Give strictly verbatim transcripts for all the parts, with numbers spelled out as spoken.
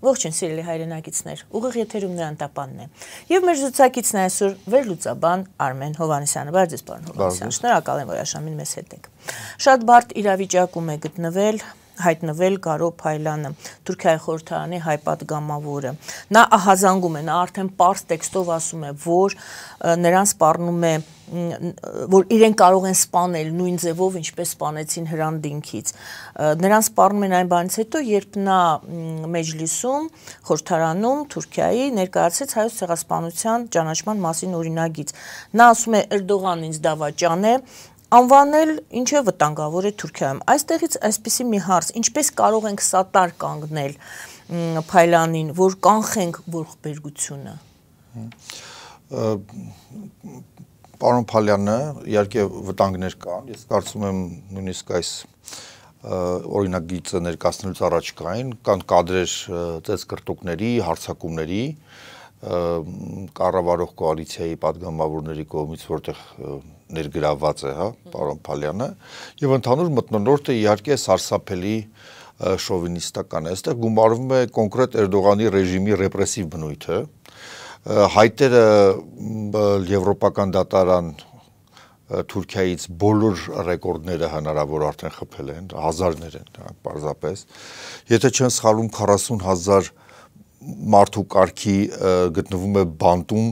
Ողջույն սիրելի հայրենակիցներ, ուղիղ եթերում Նրան տապանն է։ Եվ մեր զրուցակիցն է այսօր վերլուծաբան Արմեն Հովհաննիսյանը, բարձ ձեզ պարոն Հովհաննիսյան, շնորհակալ եմ, որ այժմին մեզ հետ եք։ Շատ բարդ իրավիճակում է գտնվել հայտնվել Գարո Փայլյանը, Թուրքիայի խորհրդարանի հայ պատգամավորը։ Նա ահազանգում է, նա արդեն պարզ տեքստով ասում է, որ նրան սպառնում է, որ իրեն կարող են սպանել նույն ձևով, ինչպես սպանեցին Հրանտ-Դինքից։ Նրան սպառնում են այն բանից հետո, երբ նա Մեջլիսում, խորհրդարանում Թուրքիայի ներկայացրեց հայոց ցեղասպանության ճանաչման մասին օրինագիծ։ Նա ասում է Էրդողանն ինձ դավաճան է, անվանել ինչ է վտանգավոր է Թուրքիայում։ Այստեղից այսպիսի մի հարց, ինչպես կարող ենք սատար կանգնել Փայլյանին, որ կանխենք ողբերգությունը։ Պարոն Փայլյանը իհարկե վտանգներ կան, ես կարծում եմ նույնիսկ այս օրինագիծը ներկայացնելուց առաջ կային, կան կադրեր ծեծկռտուկների, հարձակումների, կառավարող կոալիցիայի պատգամավորների կողմից, որտեղ ներգրավված է, հա, պարոն Փայլյանը, եւ ընդհանուր մթնոլորտը իհարկե սարսափելի շովինիստական է, այստեղ գումարվում է կոնկրետ Էրդողանի ռեժիմի ռեպրեսիվ բնույթը, հայտերը եվրոպական դատարան Թուրքիայից բոլոր ռեկորդները հնարավոր արդեն խփել են, հազարներ են, պարզապես, եթե չեն սխալվում քառասուն հազար մարդու կարգի գտնվում է բանտում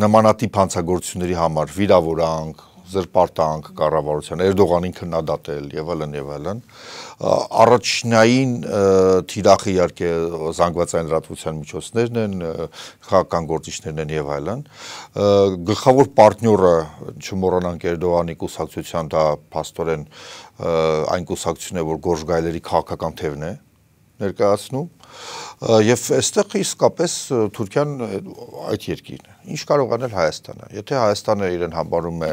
նմանատիպ հանցագործությունների համար, վիրավորանք, զրպարտանք կառավարության, Էրդողանին քննադատել եւ այլն եւ այլն։ Առաջնային թիրախը իհարկե զանգվածային լրատվության միջոցներն են, քաղաքական գործիչներն են եւ այլն։ Գլխավոր պարտնյորը չմոռանանք Էրդողանի կուսակցության, դա փաստորեն այն կուսակցությունն է, որ Գորժ Գայլերի քաղաքական թևն է ներկայացնում։ Եվ այստեղ իսկապես Թուրքիան այդ երկիրն է։ Ինչ կարող անել Հայաստանը։ Եթե Հայաստանը իրեն համարում է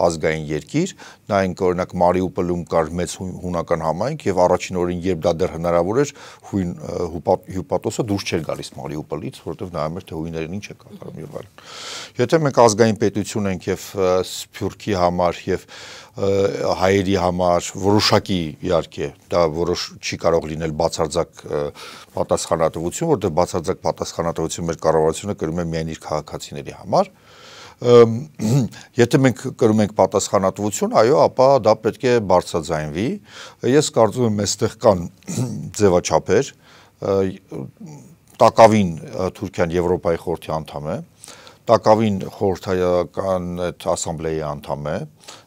ազգային երկիր, նայենք օրինակ Մարիուպոլում կար մեծ հունական համայնք եւ առաջին օրին, երբ դա դեռ հնարավոր էր, հույն հյուպատոսը դուրս չէր գալիս Մարիուպոլից, որովհետեւ նայում էր թե հույներն ինչ է կատարում եւ այլն։ Եթե մենք ազգային պետություն ենք եւ Սփյուռքի համար եւ հայերի համար որոշակի իհարկե դա որոշ չի կարող լինել բացարձակ պատասխանատվություն, որտեղ բացարձակ պատասխանատվություն մեր կառավարությունը կրում է միայն իր քաղաքացիների համար։ Եթե մենք կրում ենք պատասխանատվություն, այո, ապա դա պետք է բարձրաձայնվի։ Ես կարծում եմ այստեղ կան ձևաչափեր, տակավին Թուրքիան Եվրոպայի խորհրդի անդամ է, տակավին խորհրդարական ասամբլեայի անդամ է,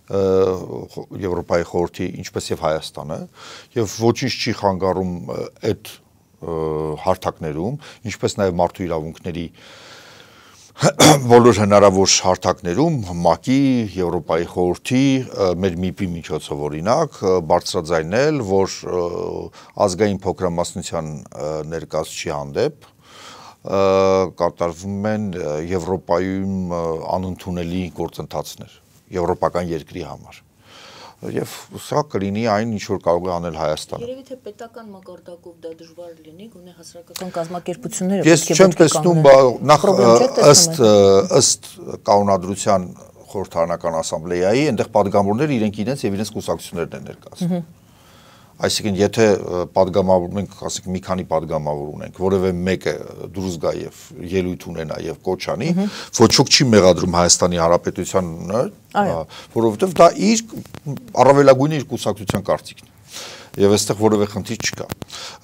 Եվրոպայի խորհրդի, ինչպես եւ Հայաստանը, եւ ոչինչ չի խանգարում այդ հարթակներում, ինչպես նաեւ մարդու իրավունքների բոլոր հնարավոր հարթակներում, ՄԱԿ-ի, Եվրոպայի խորհրդի, մեր ՄԻՊ-ի միջոցով օրինակ, բարձրաձայնել, որ ազգային փոքրամասնության ներկայացուցիչի հանդեպ կատարվում են Եվրոպայում անընդունելի գործընթացներ, եվրոպական երկրի համար։ Եվ սա կլինի այն, ինչ որ կարող է անել Հայաստանը։ Երևի թե պետական մակարդակով դա դժվար լինի, գոնե հասարակական կազմակերպությունները Ես չեմ տեսնում, նախ ըստ ըստ կանոնադրության խորհրդարանական ասամբլեայի, այնտեղ պատգամավորները իրենք իրենց եւ իրենց կուսակցություններն են ներկայացնում։ Այսինքն, եթե պատգամավոր մենք ասենք մի քանի պատգամավոր ունենք, որևէ մեկը դուրս գա եւ ելույթ ունենա եւ կոչ անի, ոչ ոք չի մեղադրում Հայաստանի Հանրապետությանը, որովհետեւ դա իր առավելագույնը իր կուսակցության կարծիքն է։ Եվ այստեղ որևէ խնդիր չկա։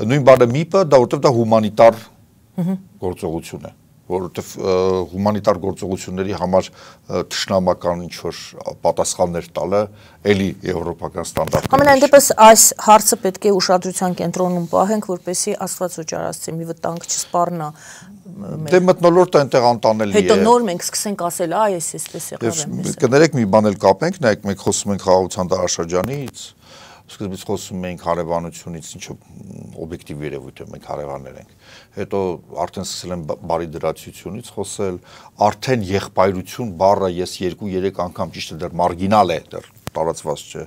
Նույն բանը ՄԻՊ-ը դա որովհետեւ դա հումանիտար գործողություն է, որովհետեւ հումանիտար գործողությունների համար թշնամական ինչ-որ պատասխաններ տալը էլի եվրոպական ստանդարտներ։ Համենայն դեպս այս հարցը պետք է ուշադրության կենտրոնում պահենք, որպեսզի Աստված օջարացի մի վտանգ չսպառնա։ Դե մթնոլորտը այնտեղ անտանելի է։ Հետո նոր մենք սկսենք ասել, այ էս էսպես եղավ էս։ Կներեք մի բան էլ կապենք, նայեք մենք խոսում ենք խաղաղության դարաշրջանից, սկզբից խոսում ենք հարևանությունից, ինչը օբյեկտիվ երևույթ է, մենք հարևաններ ենք։ Հետո արդեն սկսել են բարի դրացությունից խոսել, արդեն եղբայրություն բառը ես երկու-երեք անգամ ճիշտ է դեռ մարգինալ է, դեռ տարածված չէ։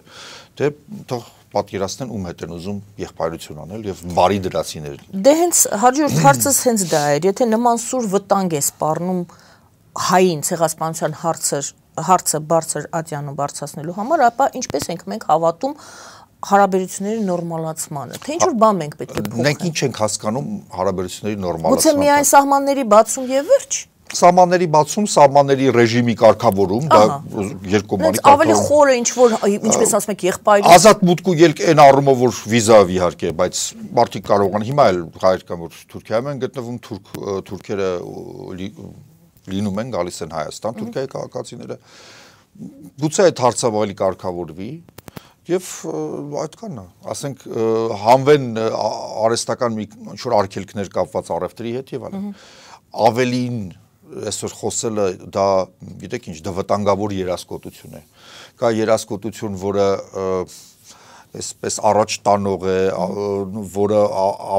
Դե թող պատկերացնեն ում հետ են ուզում եղբայրություն անել եւ բարի դրացիներ։ Դե հենց հաջորդ հարցս հենց դա էր, եթե նման սուր վտանգ է սպառնում հային ցեղասպանության հարցը հարցը բարձր ատյանում բարձրացնելու համար, ապա ինչպես ենք մենք հավատում հարաբերությունների նորմալացմանը, թե ինչ որ բան մենք պետք է փոխենք։ Մենք ինչ ենք հասկանում հարաբերությունների նորմալացման։ Գուցե միայն սահմանների բացում եւ վերջ։ Սահմանների բացում, սահմանների ռեժիմի կարգավորում, դա երկկողմանի կարգավորում։ Ավելի խորը ինչ որ, ինչպես ասում եք, եղբայրի ազատ մուտք ու ելք այն առումով, որ վիզա իհարկե, բայց մարդիկ կարող են հիմա էլ հայեր կան, որ Թուրքիայում են գտնվում, թուրք թուրքերը լինում են, գալիս են Հայաստան, Թուրքիայի քաղաքացիները։ Գուցե այդ հարցը ավելի կարգավորվի եւ այդքանն է, ասենք հանվեն արհեստական մի ինչ-որ արգելքներ կապված առևտրի հետ եւ այլն։ Ավելին այսօր խոսելը դա գիտեք ինչ, դա վտանգավոր երասկոտություն է։ Կա երասկոտություն, որը այսպես առաջ տանող է, որը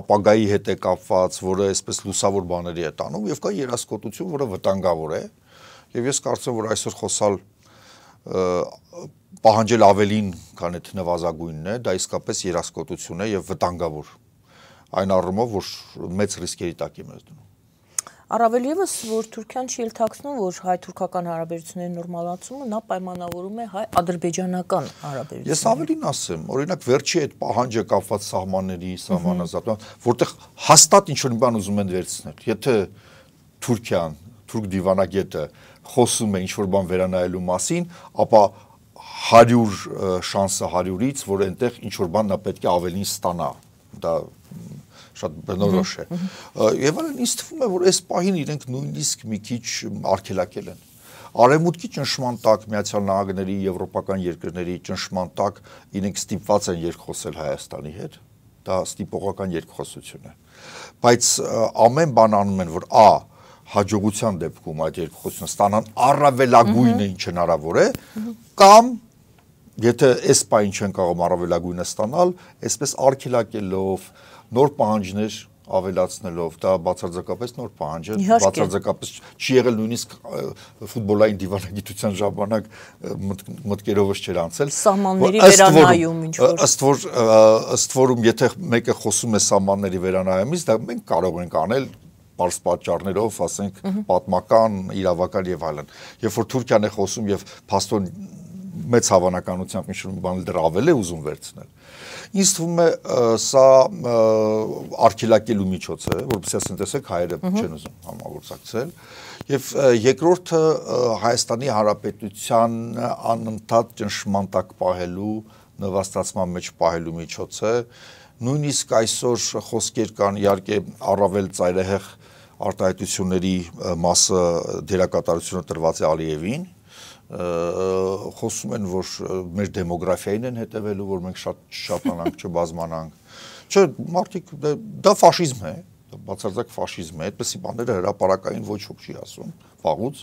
ապագայի հետ է կապված, որը այսպես լուսավոր բաների է տանում եւ կա երասկոտություն, որը վտանգավոր է։ Եվ ես կարծում եմ, որ այսօր խոսալ պահանջել ավելին, քան այդ նվազագույնն է, դա իսկապես երասկոտություն է եւ վտանգավոր։ Այն առումով, որ մեծ ռիսկերի տակ է մեզ դնում։ Առավել ևս, որ Թուրքիան չի ելթացնում, որ հայ-թուրքական հարաբերությունների նորմալացումը նա պայմանավորում է հայ-ադրբեջանական հարաբերությունները։ Ես ավելին ասեմ, օրինակ վերջի այդ պահանջը կապված սահմանների, սահմանազատման, որտեղ հաստատ ինչ-որ բան ուզում են վերցնել։ Եթե Թուրքիան, թուրք դիվանագետը խոսում է ինչ-որ բան վերանայելու մասին, ապա հարյուր շանսը հարյուրից, որ այնտեղ ինչ-որ բան նա պետք է ավելին ստանա։ Դա շատ բնորոշ է։ Եվ այլն ինձ թվում է, որ այս պահին իրենք նույնիսկ մի քիչ արգելակել են։ Արևմուտքի ճնշման տակ, Միացյալ Նահանգների, եվրոպական երկրների ճնշման տակ իրենք ստիպված են երկխոսել Հայաստանի հետ։ Դա ստիպողական երկխոսություն է։ Բայց ամեն բան անում են, որ ա հաջողության դեպքում այդ երկխոսությունը ստանան առավելագույնը ինչ հնարավոր է, կամ եթե այս պահին չեն կարող առավելագույնը ստանալ, այսպես արգելակելով, նոր պահանջներ ավելացնելով, դա բացարձակապես նոր պահանջ է, բացարձակապես չի եղել նույնիսկ ֆուտբոլային դիվանագիտության ժամանակ մտքերովս չէր անցել։ Սահմանների վերանայում ինչ որ ըստ որ ըստ որում եթե մեկը խոսում է սահմանների վերանայումից, դա մենք կարող ենք անել բարձ պատճառներով, ասենք պատմական, իրավական եւ այլն։ Երբ որ Թուրքիան է խոսում եւ փաստորեն մեծ հավանականությամբ ինչ-որ բան դեռ ավել է ուզում վերցնել։ Ինձ թվում է սա արգելակելու միջոց է, որովհետեւ ասեն տեսեք հայերը չեն ուզում համագործակցել, եւ երկրորդը Հայաստանի Հանրապետության անընդհատ ճնշման տակ պահելու, նվաստացման մեջ պահելու միջոց է։ Նույնիսկ այսօր խոսքեր կան իհարկե առավել ծայրահեղ արտահայտությունների մասը դերակատարությունը տրված է Ալիևին, խոսում են, որ մեր դեմոգրաֆիային են հետևելու, որ մենք շատ շատանանք, չբազմանանք։ Չէ, մարդիկ դա ֆաշիզմ է, դա բացարձակ ֆաշիզմ է, այդպիսի բաները հրապարակային ոչ ոք չի ասում, վաղուց։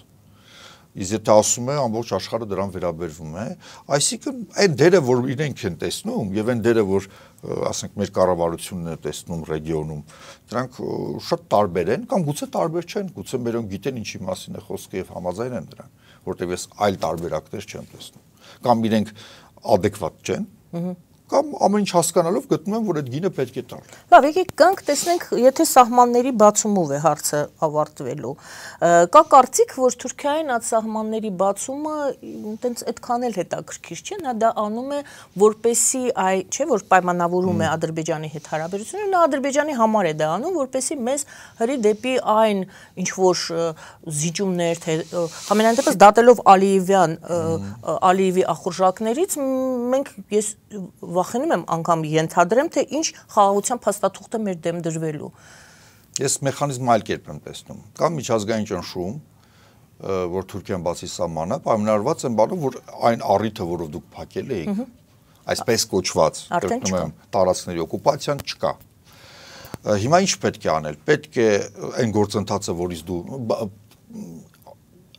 Իսկ եթե ասում է, ամբողջ աշխարհը դրան վերաբերվում է, այսինքն այն դերը, որ իրենք են տեսնում, եւ այն դերը, որ ասենք մեր կառավարությունն է տեսնում ռեգիոնում, դրանք շատ տարբեր են, կամ գուցե տարբեր չեն, գուցե մերոնք գիտեն ինչի մասին է խոսքը եւ համաձայն են դրան, որտեղ ես այլ տարբերակներ չեմ տեսնում, կամ իրենք adekvat չեն, կամ ամեն ինչ հասկանալով գտնում եմ, որ այդ գինը պետք է տալ։ Լավ, եկեք գանք տեսնենք, եթե սահմանների բացումով է հարցը ավարտվելու։ Կա կարծիք, որ Թուրքիային այդ սահմանների բացումը այտենց այդքան էլ հետաքրքիր չէ, նա դա անում է, որպեսի այ, չէ, որ պայմանավորում է Ադրբեջանի հետ հարաբերությունները, նա Ադրբեջանի համար է դա անում, որպեսի մեզ հրի դեպի այն ինչ որ զիջումներ, թե ամենայն դեպս դատելով Ալիևյան, Ալիևի ախորժակներից, մենք ես վախենում եմ անգամ ենթադրեմ, թե ինչ խաղաղության փաստաթուղթ է մեր դեմ դրվելու։ Ես մեխանիզմը այլ կերպ եմ տեսնում։ Կա միջազգային ճնշում, որ Թուրքիան բացի սահմանը, պայմանավորված են բանով, որ այն առիթը, որով դուք փակել եք, այսպես կոչված, կրկնում եմ, տարածքների օկուպացիան չկա։ Հիմա ինչ պետք է անել։ Պետք է այն գործընթացը, որից դու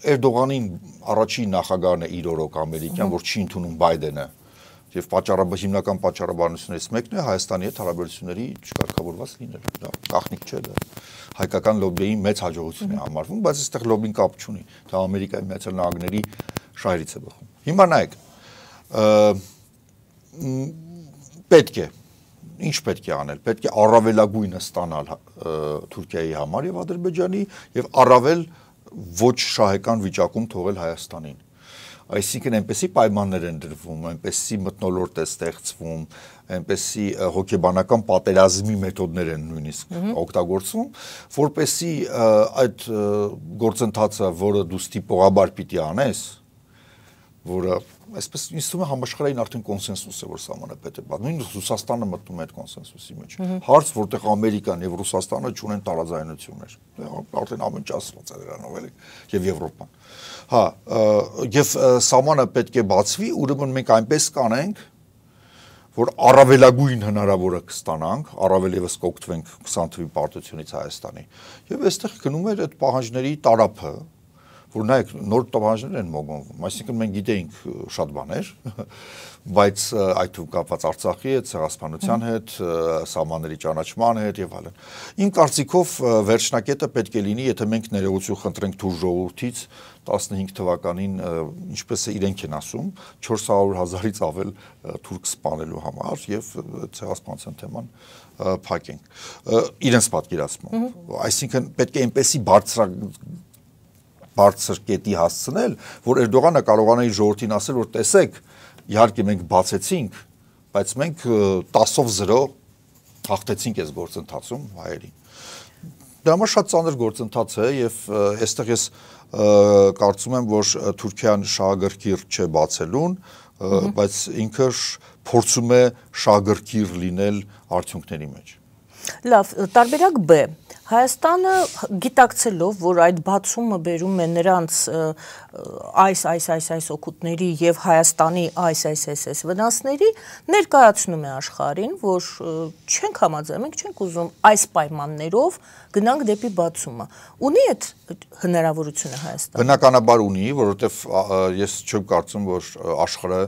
Էրդողանին առաջին նախագահն է իր օրոք ամերիկյան, որ չի ընդունում Բայդենը։ Եվ պատճառաբար հիմնական պատճառաբանություններից մեկն է Հայաստանի հետ հարաբերությունների չկարգավորված լինելը։ Դա գաղտնիք չէ, դա հայկական լոբբիի մեծ հաջողություն է համարվում, բայց այստեղ լոբբին կապ չունի։ Դա Ամերիկայի Միացյալ Նահանգների շահերից է բխում։ Հիմա նայեք, պետք է, ինչ պետք է անել։ Պետք է առավելագույնը ստանալ Թուրքիայի համար եւ Ադրբեջանի եւ առավել ոչ շահեկան վիճակում թողել Հայաստանին։ Այսինքն այնպեսի պայմաններ են դրվում, այնպեսի մթնոլորտ է ստեղծվում, այնպեսի հոգեբանական պատերազմի մեթոդներ են նույնիսկ օգտագործվում, որպեսի այդ գործընթացը, որը դու ստիպողաբար պիտի անես, որը այսպես ինձ թվում է համաշխարհային արդեն կոնսենսուս է, որ սահմանապետ է բան։ Նույն Ռուսաստանը մտնում է այդ կոնսենսուսի մեջ։ Հարց, որտեղ Ամերիկան եւ Ռուսաստանը չունեն տարաձայնություններ։ Արդեն ամեն ինչ ասված է դրանով էլի, եւ Եվրոպան։ Հա, եւ սահմանը պետք է բացվի, ուրեմն մենք այնպես կանենք, որ առավելագույն հնարավորը կստանանք, առավել եւս կօգտվենք քսան թվի պարտությունից Հայաստանի։ Եվ այստեղ գնում էր այդ պահանջների տարափը, որ նայեք նոր տվանջներ են մոգոնվում, այսինքն մենք գիտեինք շատ բաներ, բայց այդ թվում կապված Արցախի հետ, ցեղասպանության հետ, սահմանների ճանաչման հետ եւ այլն։ Իմ կարծիքով վերջնակետը պետք է լինի, եթե մենք ներողություն խնդրենք թուր ժողովրդից տասնհինգ թվականին, ինչպես է իրենք են ասում, չորս հարյուր հազարից ավել թուրք սպանելու համար եւ ցեղասպանության թեման փակենք։ Իրենց պատկերացմամբ։ Այսինքն պետք է այնպեսի բարձր բարձր կետի հասցնել, որ Էրդողանը կարողանա իր ժողովրդին ասել, որ տեսեք, իհարկե մենք բացեցինք, բայց մենք տասով զրո հաղթեցինք այս գործընթացում հայերին։ Դա համար շատ ծանր գործընթաց է եւ այստեղ ես կարծում եմ, որ Թուրքիան շահագրգիռ չէ բացելուն, բայց ինքը փորձում է շահագրգիռ լինել արդյունքների մեջ։ Լավ, տարբերակ B. Հայաստանը գիտակցելով, որ այդ բացումը բերում է նրանց այս, այս, այս, այս օգուտների եւ Հայաստանի այս, այս, այս, այս վնասների, ներկայացնում է աշխարհին, որ չենք համաձայն, մենք չենք ուզում այս պայմաններով գնանք դեպի բացումը։ Ունի այդ հնարավորությունը Հայաստանը։ Բնականաբար ունի, որովհետեւ ես չեմ կարծում, որ աշխարհը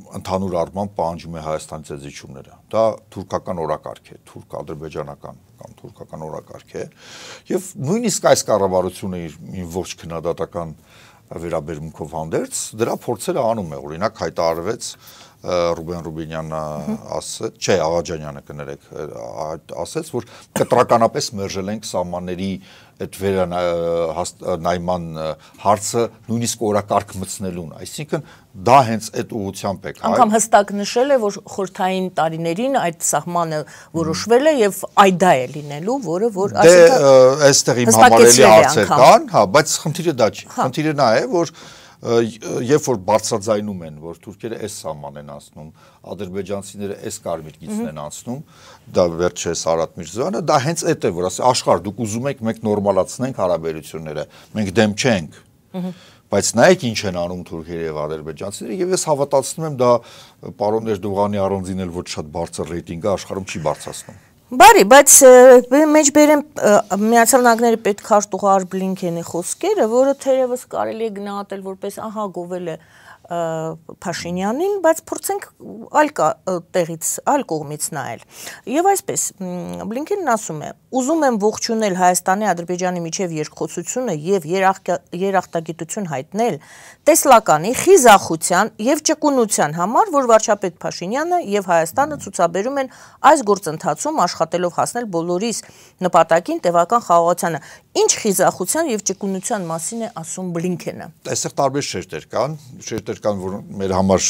ընդհանուր առմամբ պահանջում է Հայաստանից այդ զիջումները։ Դա թուրքական օրակարգ է, թուրք-ադրբեջանական կամ թուրքական օրակարգ է, եւ նույնիսկ այս կառավարությունը իր ոչ քննադատական վերաբերմունքով հանդերձ դրա փորձերը անում է, օրինակ հայտարարվեց Ռուբեն Ռուբինյանը ասաց, չէ, Աղաջանյանը կներեք, ասաց, որ կտրականապես մերժել ենք սահմանների այդ վերանայման հարցը նույնիսկ օրակարգ մտցնելուն, այսինքն դա հենց այդ ուղղությամբ է։ Անգամ հստակ նշել է, որ խորհրդային տարիներին այդ սահմանը որոշվել է եւ այդ դա է լինելու, որը որ այսինքն դե այստեղ իմ համարելի հարցեր կան, հա, բայց խնդիրը դա չի։ Խնդիրը նա է, որ երբ որ բարձրաձայնում են, որ թուրքերը այս սահման են անցնում, ադրբեջանցիները այս կարմիր գիծն են անցնում, դա վերջ է Սարատ Միրզոյանը, դա հենց այդ է, որ ասի աշխարհ դուք ուզում եք մենք նորմալացնենք հարաբերությունները, մենք դեմ չենք, բայց նայեք ինչ են անում թուրքերը եւ ադրբեջանցիները, եւ ես հավատացնում եմ դա պարոն Էրդողանի առանձին էլ ոչ շատ բարձր ռեյտինգը աշխարհում չի բարձրացնում։ Բարի, բայց մեջբերեմ Միացյալ Նահանգների պետքարտուղար Բլինքենի խոսքերը, որը թերևս կարելի է գնահատել որպես ահա գովել է Փաշինյանին, բայց փորձենք այլ տեղից, այլ կողմից նայել։ Եվ այսպես, Բլինքենն ասում է. ուզում եմ ողջունել Հայաստանի Ադրբեջանի միջև երկխոսությունը եւ երախտագիտություն հայտնել տեսլականի, խիզախության եւ ճկունության համար, որ վարչապետ Փաշինյանը եւ Հայաստանը ցուցաբերում են այս գործընթացում աշխատելով հասնել բոլորիս նպատակին տևական խաղաղությանը։ Ինչ խիզախության եւ ճկունության մասին է ասում Բլինքենը։ Այստեղ տարբեր շերտեր կան, շերտեր կան, որ մեր համար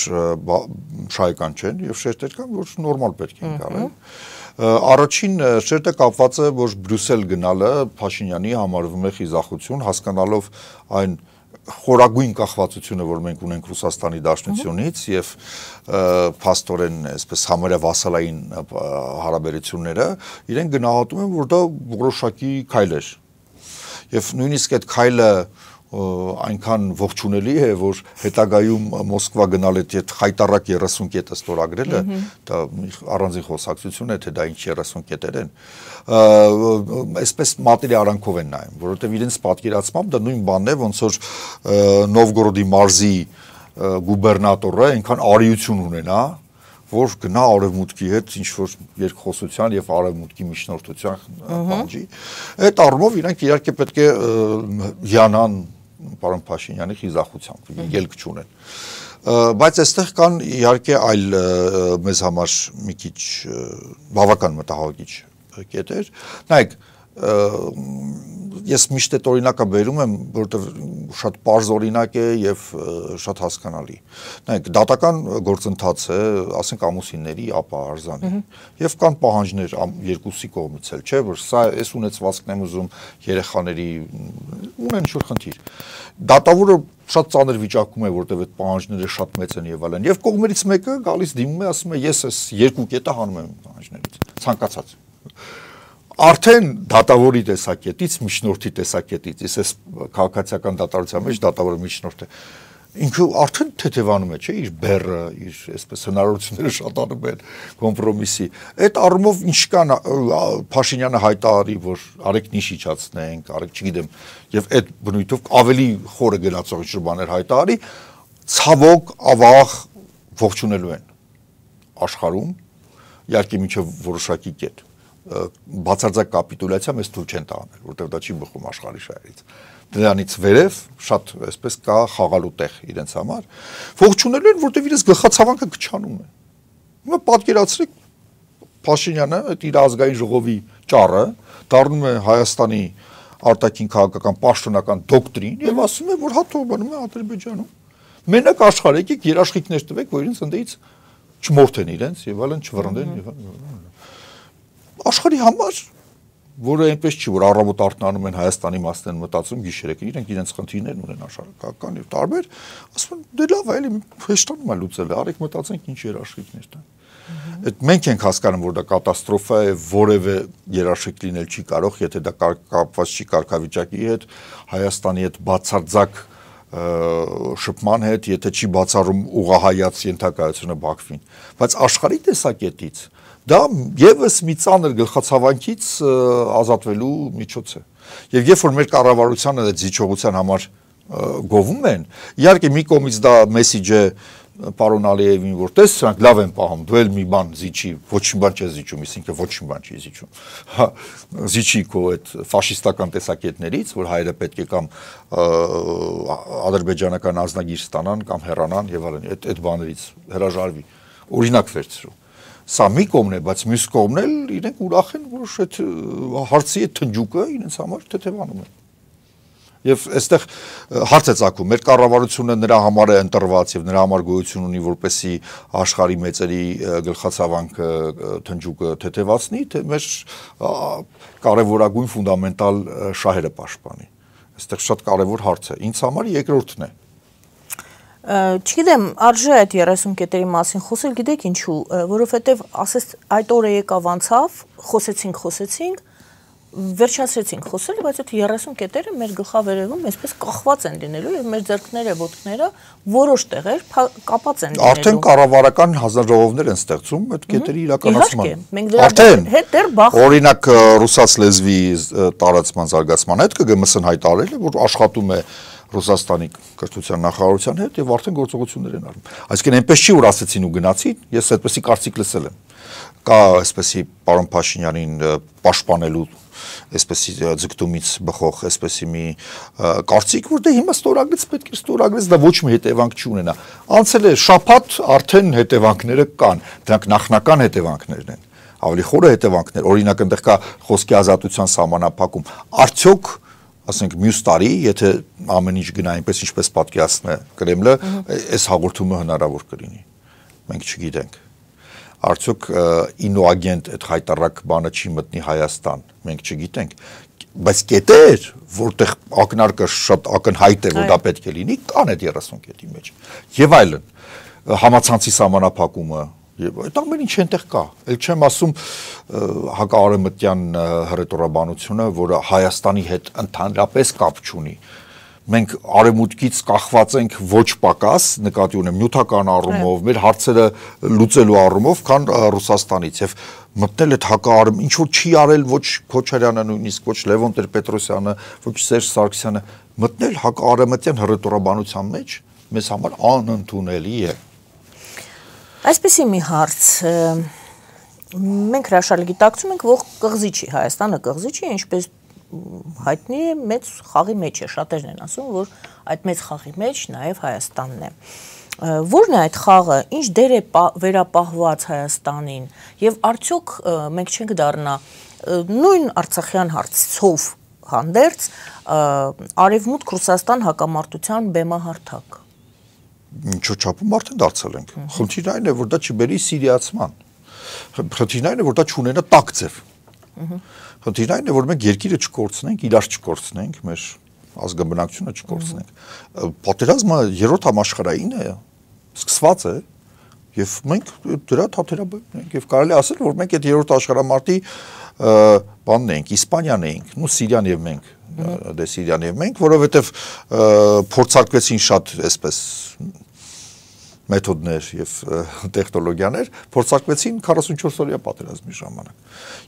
շահեկան չեն եւ շերտեր կան, որ նորմալ պետք են գալ։ Առաջին շերտը կապված է, որ Բրյուսել գնալը Փաշինյանի համարվում է խիզախություն, հասկանալով այն խորագույն կախվածությունը, որ մենք ունենք Ռուսաստանի Դաշնությունից եւ փաստորեն այսպես համարյա վասալային հարաբերությունները, իրեն գնահատում են, որ դա որոշակի քայլ է։ Եվ նույնիսկ այդ քայլը այնքան ողջունելի է, որ հետագայում Մոսկվա գնալ այդ խայտարակ երեսուն կետը ստորագրելը, դա առանձին խոսակցություն է, թե դա ինչ երեսուն կետեր են, այսպես մատերի արանքով են նայում, որովհետև իրենց պատկերացմամբ դա նույն բանն է, ոնց որ Նովգորոդի մարզի գուբերնատորը այնքան արիություն ունենա, որ գնա արևմուտքի հետ ինչ-որ երկխոսության եւ արևմուտքի միջնորդության բանջի, այդ առումով իրանք իհարկե պետք է հիանան պարոն Փաշինյանի խիզախությամբ, ելք չունեն։ Բայց այստեղ կան իհարկե այլ մեզ համար մի քիչ բավական մտահոգիչ կետեր։ Նայեք, ես միշտ այդ օրինակը բերում եմ, որովհետև շատ պարզ օրինակ է եւ շատ հասկանալի։ Նայեք, դատական գործընթաց է, ասենք ամուսինների, ապա արձանի։ Եվ կան պահանջներ երկուսի կողմից էլ, չէ՞, որ սա էս ունեցվածքն եմ ուզում երեխաների ունեն ինչ-որ խնդիր։ Դատավորը շատ ծանր վիճակում է, որտեղ այդ պահանջները շատ մեծ են եւ այլն։ Եվ կողմերից մեկը գալիս դիմում է, ասում է, ես այս երկու կետը հանում եմ պահանջներից, ցանկացած։ Արդեն դատավորի տեսակետից, միջնորդի տեսակետից, ես քաղաքացիական դատարության մեջ դատավորը միջնորդ է, ինքը արդեն թեթևանում է, չէ, իր բեռը, իր այսպես հնարավորությունները շատանում են կոմպրոմիսի։ Այդ առումով ինչ կան Փաշինյանը հայտարարի, որ արեք նիշ իջացնենք, արեք, չգիտեմ, եւ այդ բնույթով ավելի խորը գնացող ինչ բաներ հայտարարի, ցավոք, ավաղ ողջունելու են աշխարհում, իհարկե մինչև որոշակի կետ բացարձակ կապիտուլյացիա մեզ թույլ չեն տանել, որտեղ դա չի բխում աշխարհի շահերից։ Դրանից վերև շատ այսպես կա խաղալու տեղ իրենց համար, ողջունելու են, որտեղ իրենց գլխացավանքը քչանում է։ Հիմա պատկերացրեք Փաշինյանը այդ իր ազգային ժողովի ճառը դառնում է Հայաստանի արտաքին քաղաքական պաշտոնական դոկտրին եւ ասում է, որ հաթո բնում է Ադրբեջանում։ Մենակ աշխարհ եկեք երաշխիքներ տվեք, որ իրենց ընդդից չմորթեն իրենց եւ այլն չվռնդեն եւ այլն։ Աշխարհի համար, որը այնպես չի, որ առավոտ արթնանում են Հայաստանի մասն են մտածում գիշերեք, իրենք իրենց խնդիրներն ունեն աշխարհական եւ տարբեր, ասում են դե լավ, այլ հեշտանում է լուծել, արեք մտածենք ինչ երաշխիքներ տան։ Այդ մենք ենք հասկանում, որ դա կատաստրոֆա է, որևէ երաշխիք լինել չի կարող, եթե դա կապված չի կարգավիճակի հետ, Հայաստանի հետ բացարձակ շփման հետ, եթե չի բացառում ուղղահայաց ենթակայությունը Բաքվին, բայց աշխարհի տեսակետից դա եւս մի ծանր գլխացավանքից ազատվելու միջոց է։ Եվ երբ որ մեր կառավարությանը այդ զիջողության համար գովում են, իհարկե մի կողմից դա մեսիջ է պարոն Ալիևին, որ տես սրանք լավ են պահում, դու էլ մի բան զիջի, ոչինչ բան չես զիջում, իսկ ոչինչ բան չի զիջում։ Հա, զիջի քո այդ ֆաշիստական տեսակետներից, որ հայերը պետք է կամ ադրբեջանական ազնագիր ստանան կամ հեռանան եւ այլն, այդ այդ բաներից հրաժարվի, օրինակ վերցրու։ Սա մի կողմն է, բայց մյուս կողմն էլ իրենք ուրախ են, որ այդ հարցի այդ թնջուկը իրենց համար թեթևանում է։ Եվ այստեղ հարց է ծագում, մեր կառավարությունը նրա համար է ընտրված եւ նրա համար գոյություն ունի, որպեսզի աշխարհի մեծերի գլխացավանքը թնջուկը թեթևացնի, թե մեր կարևորագույն ֆունդամենտալ շահերը պաշտպանի։ Այստեղ շատ կարևոր հարց է։ Ինձ համար երկրորդն է։ Չգիտեմ, արժե այդ երեսուն կետերի մասին խոսել, գիտեք ինչու, որովհետև ասես այդ օրը եկավ անցավ, խոսեցինք, խոսեցինք, վերջացրեցինք խոսել, բայց այդ երեսուն կետերը մեր գլխավերևում այսպես կախված են լինելու եւ մեր ձեռքները, ոտքները որոշ տեղեր կապած են լինելու։ Արդեն կառավարական հանձնաժողովներ են ստեղծում այդ կետերի իրականացման։ Արդեն հետ դեռ բախ օրինակ ռուսաց լեզվի տարածման զարգացման հետ ԿԳՄՍ-ն հայտարարել է, որ աշխատում է Ռուսաստանի կրթության նախարարության հետ եւ արդեն գործողություններ են արվում։ Այսինքն այնպես չի, որ ասեցին ու գնացին, ես այդպեսի կարծիք լսել եմ։ Կա այսպեսի պարոն Փաշինյանին պաշտպանելու այսպեսի ձգտումից բխող այսպեսի մի կարծիք, որ դե հիմա ստորագրեց, պետք է ստորագրեց, դա ոչ մի հետևանք չունենա։ Անցել է շաբաթ, արդեն հետևանքները կան, դրանք նախնական հետևանքներն են։ Ավելի խորը հետևանքներ, օրինակ այնտեղ կա խոսքի ազատության սահմանափակում։ Արդյոք ասենք մյուս տարի, եթե ամեն ինչ գնա այնպես ինչպես պատկերացնում է Կրեմլը, այս հաղորդումը հնարավոր կլինի։ Մենք չգիտենք։ Արդյոք ինոագենտ այդ հայտարարակ բանը չի մտնի Հայաստան, մենք չգիտենք, բայց կետեր, որտեղ ակնարկը շատ ակնհայտ է, որ դա պետք է լինի, կան այդ երեսուն կետի մեջ։ Եվ այլն, համացանցի սահմանափակումը, այդ ամեն ինչ այնտեղ կա։ Էլ չեմ ասում հակաարևմտյան հռետորաբանությունը, որը Հայաստանի հետ ընդհանրապես կապ չունի։ Մենք արևմուտքից կախված ենք ոչ պակաս, նկատի ունեմ նյութական առումով, մեր հարցերը լուծելու առումով, քան Ռուսաստանից եւ մտնել այդ հակաարևմ, ինչ որ չի արել ոչ Քոչարյանը նույնիսկ, ոչ Լևոն Տեր-Պետրոսյանը, ոչ Սերժ Սարգսյանը, մտնել հակաարևմտյան հռետորաբանության մեջ մեզ համար անընդունելի է։ Այսպեսի մի հարց, մենք հրաշալի գիտակցում ենք, որ կղզի չի, Հայաստանը կղզի չի, ինչպես հայտնի է, մեծ խաղի մեջ է, շատերն են ասում, որ այդ մեծ խաղի մեջ նաև Հայաստանն է։ Որն է այդ խաղը, ինչ դեր է վերապահված Հայաստանին եւ արդյոք մենք չենք դառնա նույն Արցախյան հարցով հանդերձ Արևմուտք Ռուսաստան հակամարտության բեմահարթակ։ Ինչու՞ չափում արդեն դարձել ենք։ Խնդիրն այն է, որ դա չբերի սիրիացման։ Խնդիրն այն է, որ դա չունենա տաք ձև։ Խնդիրն այն է, որ մենք երկիրը չկորցնենք, իրար չկորցնենք, մեր ազգաբնակչությունը չկորցնենք։ Պատերազմը երրորդ համաշխարհային է, սկսված է, եւ մենք դրա թաթերաբերում ենք եւ կարելի ասել, որ մենք այդ երրորդ աշխարհամարտի բանն ենք, Իսպանիան ենք, նու Սիրիան եւ մենք, դե Սիրիան եւ մենք, որովհետեւ փորձարկվեցին շատ այսպես մեթոդներ եւ տեխնոլոգիաներ, փորձարկվեցին քառասունչորս օրյա պատերազմի ժամանակ։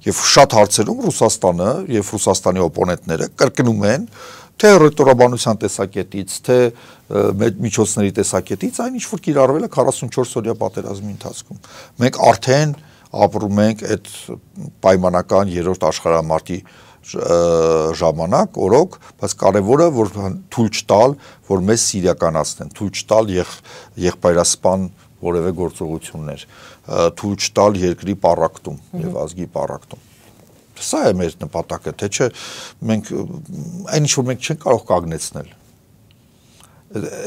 Եվ շատ հարցերում Ռուսաստանը եւ Ռուսաստանի օպոնենտները կրկնում են թե ռետորաբանության տեսակետից, թե միջոցների տեսակետից, այն ինչ որ կիրառվել է քառասունչորս օրյա պատերազմի ընթացքում։ Մենք արդեն ապրում ենք այդ պայմանական երրորդ աշխարհամարտի ժամանակ, օրոք, բայց կարևորը որ թույլ չտալ, որ մեզ սիրիականացնեն, թույլ չտալ եղբայրասպան որևէ գործողություններ, թույլ չտալ երկրի պառակտում եւ ազգի պառակտում։ Սա է մեր նպատակը, թե չէ մենք այն ինչ որ մենք չենք կարող կանգնեցնել։